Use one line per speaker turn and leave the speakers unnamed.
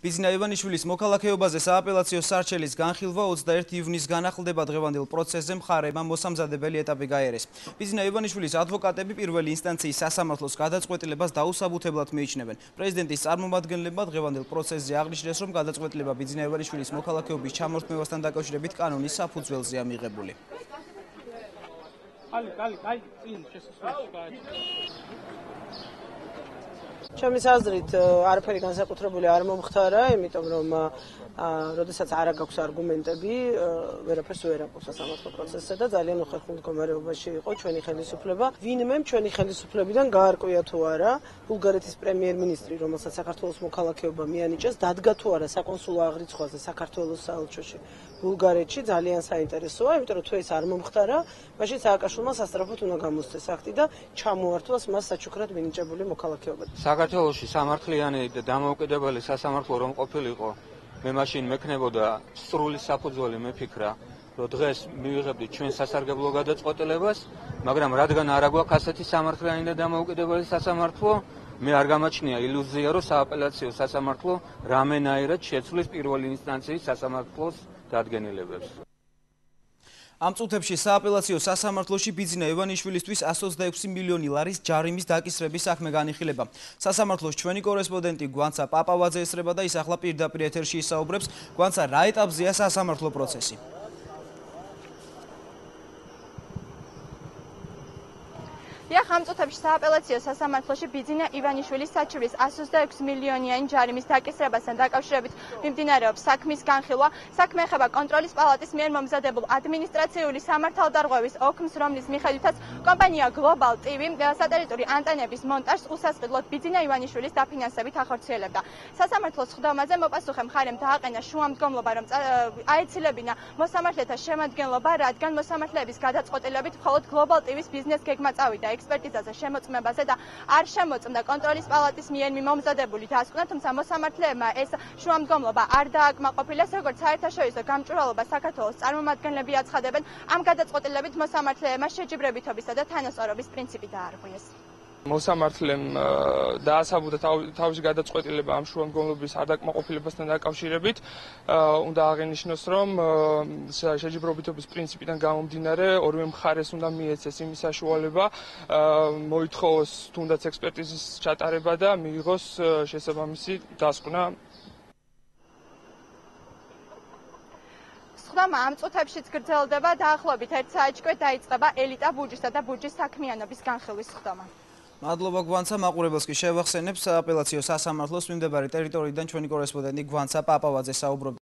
ბიზნა ივანიშვილის მოქალაქეობაზე სააპელაციო სარჩელის განხილვა 21 ივნისგან ახლდება. დღევანდელ პროცესზე მხარეებმა მოსამზადებელი ეტაპი გაიარეს. ბიზნა ივანიშვილის ადვოკატები პირველი ინსტანციის სასამართლოს გადაწყვეტილებას დაუსაბუთებლად მიიჩნევენ. პრეზიდენტის წარმომადგენლებმა დღევანდელ პროცესზე აღნიშნეს, რომ გადაწყვეტილება ბიზნა ივანიშვილის მოქალაქეობის ჩამორთმევასთან დაკავშირებით კანონის საფუძველზეა მიღებული.
ჩემის აზრით არაფერი განსაკუთრებული არ მომხდარა, იმიტომ რომ როდესაც არ აქვს არგუმენტები, ვერაფერს ვერ აქვს სასამართლო პროცესზე და ძალიან უხერხულ მდგომარეობაში იყო ჩვენი ხელისუფლება. ვინმე ჩვენი ხელისუფლებიდან გაარკვია თუ არა ბულგარეთის პრემიერ-მინისტრი, რომელსაც საქართველოს მოქალაქეობა მიანიჭეს, დადგა თუ არა საკონსულო აღრიცხვაზე საქართველოს საელჩოში ბულგარეთში, ძალიან საინტერესოა, იმიტომ რომ თუ ეს არ მომხდარა, მაშინ სააკაშვილმა სასწრაფოდ უნდა გამოსცეს აქტი და ჩამოართვას მას საჩუქრად მინიჭებული მოქალაქეობა.
საქართველოში სამართლიანი და დამოუკიდებელი სასამართლო რომ ყოფილიყო, მე მაშინ მექნებოდა სრული საფუძველი მეფიქრა, რომ დღეს მივიღებდით ჩვენ სასარგებლო გადაწყვეტილებას, მაგრამ რადგან არ აგვაქვს ასეთი სამართლიანი და დამოუკიდებელი სასამართლო, მე არ გამაჩნია ილუზია, რომ სააპელაციო სასამართლო რამენაირად შეცვლის პირველი ინსტანციის სასამართლოს დადგენილებებს.
ამ წუთებში სააპელაციო სასამართლოში ბიზნა ივანიშვილისთვის 126 მილიონი ლარის ჯარიმის დაკისრების საქმე განიხილება. სასამართლოს ჩვენი კორესპონდენტი გვანცა პაპავაძე ესწრება და ის ახლა პირდაპირ ეთერში ისაუბრებს. გვანცა, რა ეტაპზეა სასამართლო პროცესი?
ამ წუთებში სააპელაციო სასამართლოში ბიზნა ივანიშვილის საჩივრის 126 მილიონიანი ჯარიმის დაკისრებასთან დაკავშირებით მიმდინარეობს საქმის განხილვა. საქმე ეხება კონტროლის პალატის მიერ მომზადებულ ადმინისტრაციული სამართალდარღვევის ოქმს, რომლის მიხედვითაც კომპანია Global TV სატელიტური ანტენების მონტაჟს უსასყიდლოდ ბიზნა ივანიშვილის დაფინანსებით ახორციელებდა. სასამართლოს ხდომაზე მოპასუხე მხარემ დააყენა შუამდგომლობა, რომ აეცილებინა მოსამართლეთა შემადგენლობა, რადგან მოსამართლეების გადაწყვეტილებით მხოლოდ Global TV-ს ბიზნეს გეგმა წავიდა ექსპერტიზაზე შემოწმებაზე და არ შემოწმდა კონტროლის პალატის მიერ მომზადებული დასკვნა, თუმცა მოსამართლეებმა ეს შუამდგომლობა არ დააკმაყოფილეს, როგორც საერთაშორისო გამჭვირვალობა საქართველოს წარმომადგენლები აცხადებენ, ამ გადაწყვეტილებით მოსამართლეებმა შეჯიბრებითობისა და თანასწორობის პრინციპი დაარღვიეს.
მოსამართლემ დაასაბუთა თავისი გადაწყვეტილება ამ შუამდგომლობის არდაკმაყოფილებასთან დაკავშირებით. უნდა აღინიშნოს, რომ შეჯიბრობითობის პრინციპიდან გამომდინარე ორივე მხარეს უნდა მიეცეს იმის საშუალება, მოითხოვოს თუნდაც ექსპერტიზის ჩატარება და მიიღოს შესაბამისი დასკვნა.
ხდომა ამ წუთებშიც გრძელდება, დაახლოებით 1 საათში დაიწყება ელიტა ბუჯისა და ბუჯის საქმიანობის განხილვის ხდომა.
მადლობა გვანცა, მაყურებელს კი შევახსენებ, სააპელაციო სასამართლოს მიმდებარე ტერიტორიიდან ჩვენი კორესპონდენტი გვანცა პაპავაძე საუბრობდა.